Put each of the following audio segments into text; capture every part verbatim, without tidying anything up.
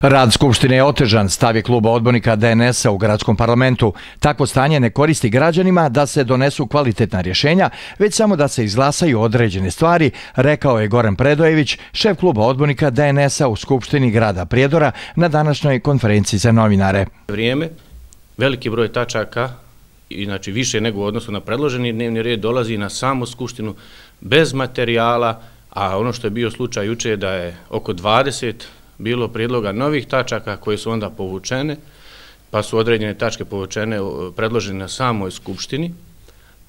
Rad Skupštine je otežan, stav je kluba odbornika D N S-a u gradskom parlamentu. Takvo stanje ne koristi građanima da se donesu kvalitetna rješenja, već samo da se izglasaju određene stvari, rekao je Goran Predojević, šef kluba odbornika D N S-a u Skupštini grada Prijedora na današnjoj konferenciji za novinare. Vrijeme, veliki broj tačaka, znači više nego u odnosu na predloženi dnevni red, dolazi na samu Skupštinu bez materijala, a ono što je bio slučaj juče je da je oko dvadeset bilo prijedloga novih tačaka koje su onda povučene, pa su određene tačke povučene, predložene na samoj Skupštini,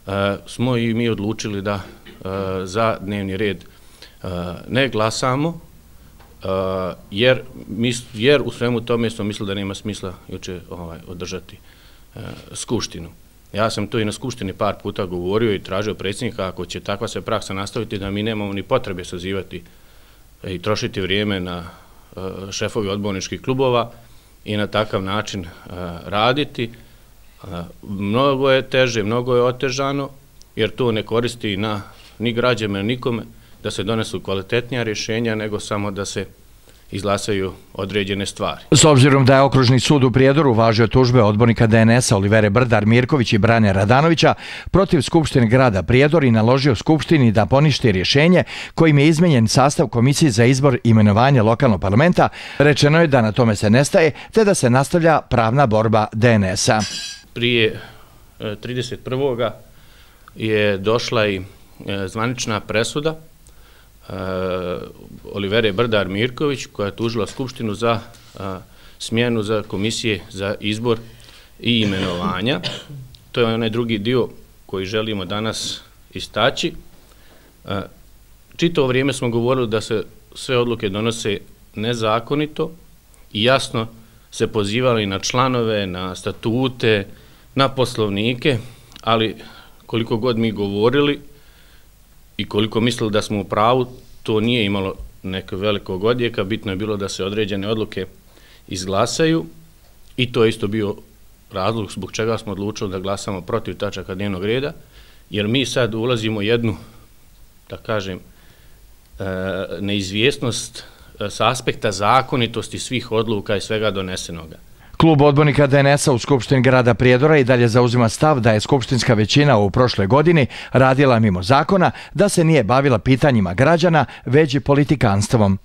e, smo i mi odlučili da e, za dnevni red e, ne glasamo, e, jer, mis, jer u svemu tome smo mislili da nema smisla juče ovaj, održati e, Skupštinu. Ja sam to i na Skupštini par puta govorio i tražio predsjednika, ako će takva se praksa nastaviti, da mi nemamo ni potrebe sazivati i trošiti vrijeme na šefovi odborničkih klubova i na takav način raditi. Mnogo je teže, mnogo je otežano, jer to ne koristi na ni građanima, nikome da se donesu kvalitetnija rješenja, nego samo da se izglasaju određene stvari. S obzirom da je Okružni sud u Prijedoru uvažio tužbe odbornika D N S-a Olivere Brdar Mirković i Brane Radanovića protiv Skupštine grada Prijedor i naložio Skupštini da poništi rješenje kojim je izmenjen sastav Komisije za izbor i imenovanje lokalnog parlamenta, rečeno je da na tome se nestaje, te da se nastavlja pravna borba D N S-a. Prije trideset prvog je došla i zvanična presuda Uh, Olivere Brdar Mirković, koja je tužila Skupštinu za uh, smjenu za komisije za izbor i imenovanja. To je onaj drugi dio koji želimo danas istaći. Uh, čitavo vrijeme smo govorili da se sve odluke donose nezakonito i jasno se pozivali na članove, na statute, na poslovnike, ali koliko god mi govorili i koliko mislili da smo u pravu, to nije imalo nekog velikog odjeka, bitno je bilo da se određene odluke izglasaju i to je isto bio razlog zbog čega smo odlučili da glasamo protiv tačaka dnevnog reda, jer mi sad ulazimo jednu, da kažem, neizvjesnost s aspekta zakonitosti svih odluka i svega donesenoga. Klub odbornika D N S-a u Skupštini grada Prijedora i dalje zauzima stav da je skupštinska većina u prošloj godini radila mimo zakona, da se nije bavila pitanjima građana, već i politikanstvom.